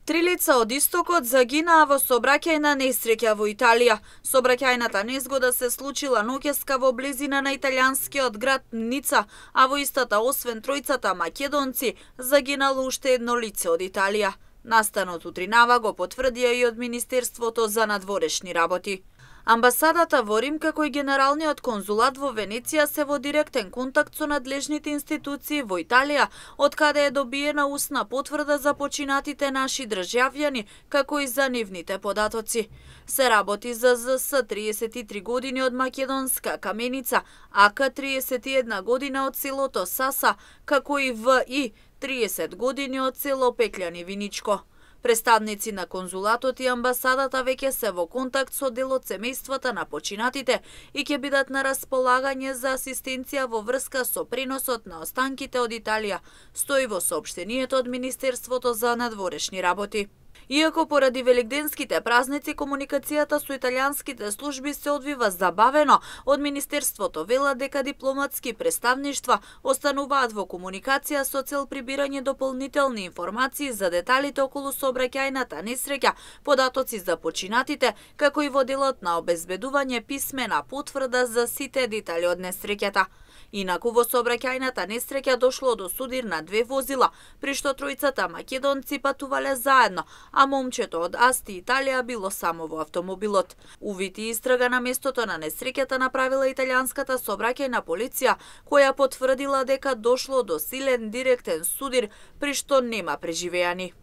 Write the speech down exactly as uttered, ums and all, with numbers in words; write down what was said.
Три лица од истокот загинаа во сообраќајна несреќа во Италија. Сообраќајната незгода се случила ноќеска во близина на италијанскиот град Ница, а во истата освен тројцата македонци, загинало уште едно лице од Италија. Настанот утринава го потврдија и од Министерството за надворешни работи. Амбасадата во Рим, како и Генералниот конзулат во Венеција се во директен контакт со надлежните институции во Италија, од каде е добиена устна потврда за починатите наши државјани, како и за нивните податоци. Се работи за З С триесет и три години од македонска Каменица, А К триесет и една година од селото Саса, како и В И триесет години од село Пеќлјани Виничко. Представници на конзулатот и амбасадата веќе се во контакт со дел од семејствата на починатите и ќе бидат на располагање за асистенција во врска со преносот на останките од Италија, стои во соопштението од Министерството за надворешни работи. Иако поради великденските празници комуникацијата со италијанските служби се одвива забавено, од Министерството вела дека дипломатски представништва остануваат во комуникација со цел прибирање дополнителни информации за деталите околу сообраќајната несреќа, податоци за починатите, како и во делот на обезбедување писмена потврда за сите детали од несреќата. Инаку во сообраќајната несреќа дошло до судир на две возила, при што тројцата македонци патувале заедно, а момчето од Асти Италија било само во автомобилот. Увид и истрага на местото на несреќата направила италијанската сообраќајна полиција, која потврдила дека дошло до силен директен судир, при што нема преживеани.